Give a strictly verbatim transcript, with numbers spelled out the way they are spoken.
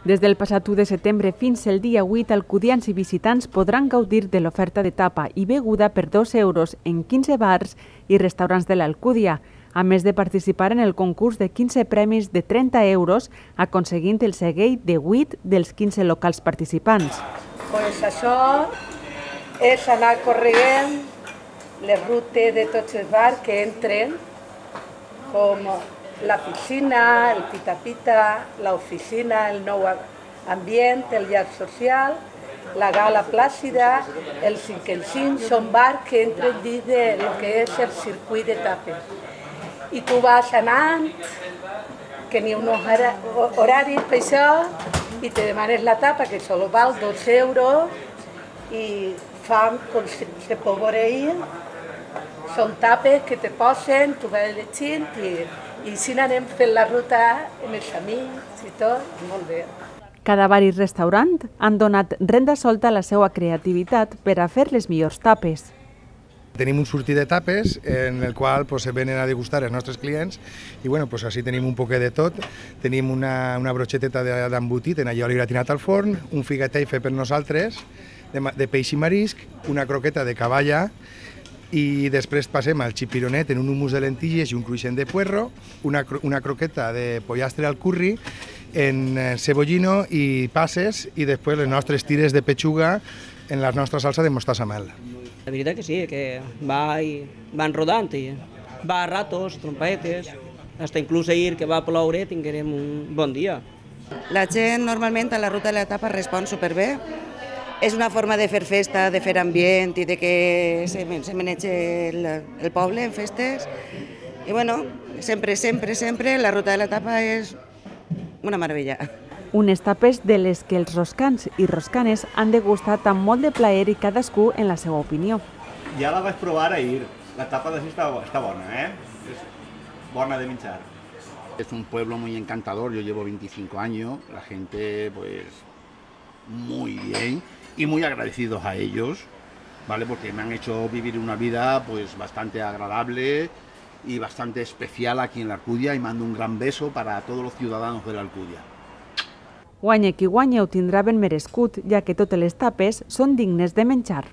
Des del passat u de setembre fins el dia vuit, alcudians i visitants podran gaudir de l'oferta de tapa i beguda per dos euros en quinze bars i restaurants de l'Alcúdia, a més de participar en el concurs de quinze premis de trenta euros, aconseguint el segell de vuit dels quinze locals participants. Pues això és anar corrent les rutes de tots els bars que entren, com la piscina, el pita-pita, l'oficina, el nou ambient, el llac social, la gala plàcida, el cinc en cinc, són bars que entren dins del que és el circuit de tapes. I tu vas anant, que n'hi ha uns horaris per això, i te demanes la tapa, que solo val dos euros, i fan com se pot veure ahir. Són tapes que te posen, tu vas llegint i i així anem fent la ruta amb els amics i tot, molt bé. Cada bar i restaurant han donat renda solta a la seva creativitat per a fer les millors tapes. Tenim un sortir de tapes en el qual pues, se venen a degustar els nostres clients i bueno, pues, així tenim un poquet de tot. Tenim una, una broxeteta d'embotit en allioli gratinat al forn, un figatell fet per nosaltres, de, de peix i marisc, una croqueta de cavalla, i després passem al chipironet en un hummus de lentilles i un cruixent de puerro, una, una croqueta de pollastre al curri, en cebollino i passes, i després les nostres tires de pechuga en la nostra salsa de mostassa mel. La veritat que sí, que va i van rodant i va a ratos, trompetes, hasta inclús ahir que va ploure tinguérem un bon dia. La gent normalment a la ruta de la tapa respon superbé. És una forma de fer festa, de fer ambient i de que se, se manegi el, el poble en festes. I bueno, sempre, sempre, sempre la ruta de la tapa és una meravella. Unes tapes de les que els roscans i roscanes han degustat amb molt de plaer i cadascú en la seva opinió. Ja la vaig provar ahir. La tapa d'ací està, està bona, eh? És bona de menjar. Es un pueblo muy encantador, yo llevo veinticinco años, la gente pues muy bien y muy agradecidos a ellos, ¿vale? Porque me han hecho vivir una vida pues bastante agradable y bastante especial aquí en la Alcúdia y mando un gran beso para todos los ciudadanos de la Alcúdia. Guanya qui guanya ho tindrà ben merescut, ja que totes les tapes són dignes de menjar.